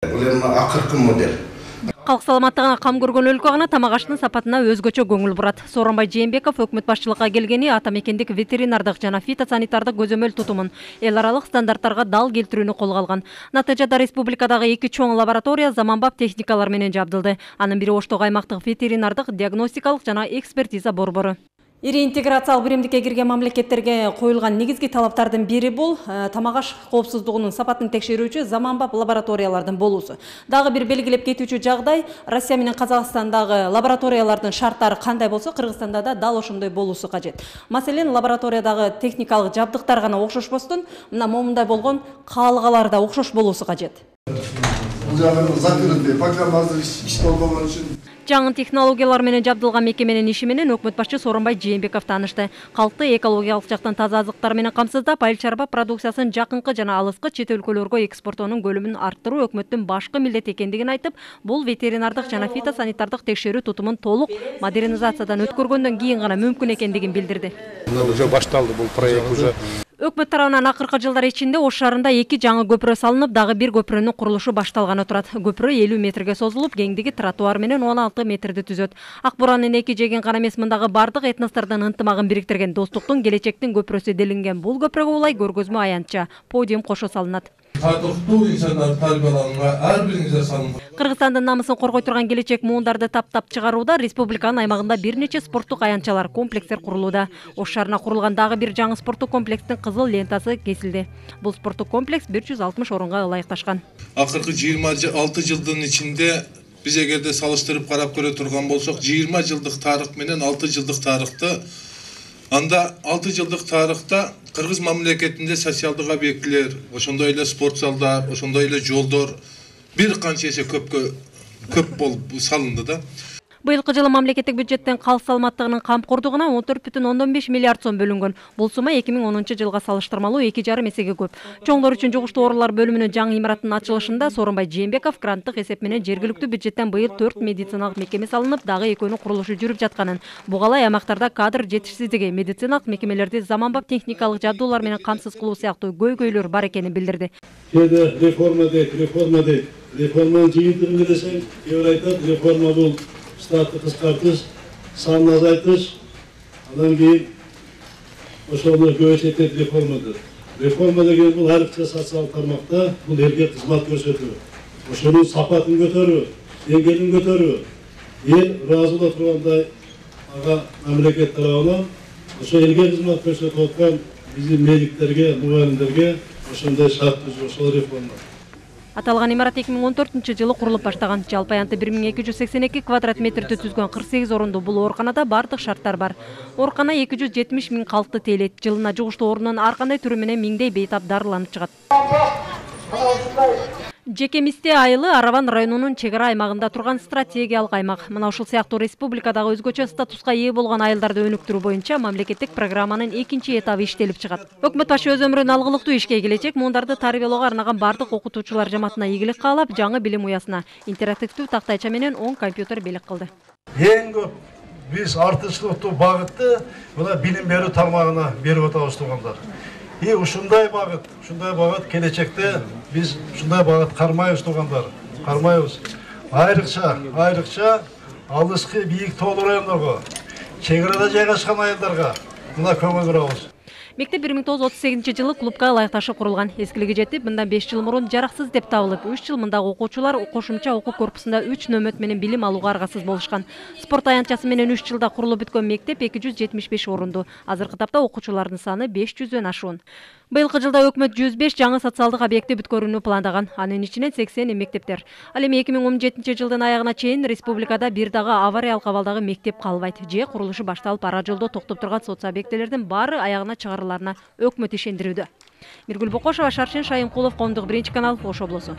Бул эми акыркы модель. Калк саламаттыгына кам көргөн өлкө гана тамак аштын сапатына өзгөчө көңүл бурат. Сооронбай Жээнбеков өкмөт башчылыкка келгени ата мекендик ветеринардык жана фитосанитардык көзөмөл тутумун эл аралык стандарттарга дал келтирүүнү колго алган. Натыйжада республикадагы 2 чоң лаборатория заманбап техникалар менен жабдылды. Анын бири Оштогу аймактык ветеринардык диагностикалык жана экспертиза борбору. Ири интеграциялык биримдикке кирген мамлекеттерге коюлган негизги талаптардын бири бул тамак аш коопсуздугунун сапатын текшерүүчү заманбап лабораториялардын болуусу. Дагы бир белгилеп кетүүчү жагдай Россия менен Казакстандагы лабораториялардын шарттары кандай болсо, Кыргызстанда да дал ошондой болуусу кажет. Маселен, лабораториядагы техникалык жабдыктар гана окшошпостон, мына момундай болгон каалгалар да окшош болуусу кажет. Бул жагы закрытый, пока азыр иш болбогон үчүн Жаңы технологиялар менен жабдылган мекеменин иши менен өкмөт башчы Сооронбай Жээнбеков таанышты. Калкты экологиялык жактан таза азыктар менен камсыздап, айыл чарба продукциясын жакынкы жана алыскы чет өлкөлөргө экспорттоонун көлөмүн арттыруу өкмөттүн башкы милдети экендигин айтып, бул ветеринардык жана фитосанитардык текшерүү тутумун толук модернизациядан өткөргөндөн кийин гана мүмкүн экендигин билдирди. Уже башталды бул проект уже. Өкмөт тарабынан акыркы жылдар ичинде Ош шаарында 2 жаңы көпүрө салынып, дагы бир көпүрөнүн курулушу башталганы турат. Көпүрө 50 метрге созулуп, кеңдиги тротуар менен 16 метрди түзөт. Ак буранын эки жеген гана эмес, мындагы бардык этностордун ынтымагын бириктирген достуктун келечектин көпүрөсү делинген бул көпүрөгө улай көргөзмө аянтча подиум кошо салынат. Татыктуу инсандар тарбияланганга ар бириңизге салынат. Кыргызстандын намысын коргой турган келечек муундарды таптап чыгарууда республиканын аймагында бир нече спорттук аянтчалар, комплекстер курулууда. Ош шаарына курулган дагы бир жаңы спорттук комплекстин кызыл лентасы кесилди. Бул спорттук комплекс 160 орунга ылайыкташкан. Акыркы 26 жылдын ичинде биз эгерде салыштырып карап көрө турган болсок, 20 жылдык тарых менен 6 жылдык тарыхты, анда 6 жылдык тарыхта Кыргыз мамлекетинде социалдык объектилер, ошондой эле спорт залдар, ошондой эле жолдор бир канча эсе көп болуп салынды да. Быйылкы жылы мамлекеттик бюджеттен калк саламаттыгынын камкордугуна 14,5 миллиард сом бөлүнгөн. Бул сумма 2010-жылга салыштырмалуу 2,5 эсеге көп. Чоңдор үчүн жугуштуу оорулар бөлүмүнүн жаңы имараттын ачылышында Сооронбай Жээнбеков гранттык эсеп менен жергиликтүү бюджеттен быйыл 4 медициналык мекеме салынып, дагы экөөнүн курулушу жүрүп жатканын, буга аймактарда кадр жетишсиздиги, медициналык мекемелерди заманбап техникалык жабдуулар менен камсыз кылуу сыяктуу көйгөйлөр бар экенин билдирди. Реформанын жыйынтыгын десең, кээ бир айтат, реформа бул штатты кыскартыш, санын азайтыш, андан кийин ошону көбөйтөт реформадыр. Реформа деген бул ар бир социалдык тармакта бул элге кызмат көрсөтүү, ошонун сапатын көтөрүү, деңгээлин көтөрүү, эл ыраазы боло тургандай ага мамлекет тарабынан ошо элге кызмат көрсөтүп аткан биздин медиктерге, мугалимдерге ошондой шарт түзүү, ошол реформа. Аталган имарат 2014-жылы курулуп баштаган. Жалпы аянты 1282 квадрат метрди түзгөн 48 орундуу бул ооруканада бардык шарттар бар. Оорукана 270 миң калкты тейлейт. Жылына жугуштуу оорунун ар кандай түрү менен миңдей бейтап дарыланып чыгат. Жекемисте айылы Араван районунун чек ара аймагында турган стратегиялык аймак. Мына ушул сыяктуу республикадагы өзгөчө статуска ээ болгон айылдарды өнүктүрүү боюнча мамлекеттик программанын 2-чи этабы иштелип чыгат. Өкмөт башы өз өмүрүн алгылыктуу ишке келечек муундарды тарбиялоого арнаган бардык окутуучулар жамаатына ийгилик каалап, жаңы билим уясына интерактивдүү тактайча менен 10 компьютер белек кылды. Эң көп биз артычылыктуу багытты мына билим берүү тармагына берип атабыз туугандар. Ушундай багыт келечекте биз ушундай багыт кармайбыз туугандар, кармайбыз. Айрыкча алыскы бийик тоолуу райондорго, чек арада жайгашкан айылдарга мына көңүл бурабыз. Мектеп 1938-жылы клубка ылайыкташып курулган. Эскилиги жетип, мындан 5 жыл мурун жараксыз деп табылып, 3 жыл мындагы окуучулар кошумча окуу корпусунда 3 нөмөт менен билим алууга аргасыз болушкан. Спорт аянтчасы менен 3 жылда курулуп бүткөн мектеп 275 орунду. Азыркы тапта окуучулардын саны 500дөн ашуун. Быйылкы жылда өкмөт 105 жаңы социалдык объекти бүткөрүүнү пландаган. Анын ичинен 80 мектептер. Ал эми 2017-жылдын аягына чейин республикада бир дагы авариялык абалдагы мектеп калбайт. Же курулушу башталып ара жолдо токтоп турган соцобъектилердин баары аягына чыгарыларына өкмөт ишендирүүдө. Миргүл Бокошова, Шаршен Шайымкулов, Коомдук 1-канал, Ош облусу.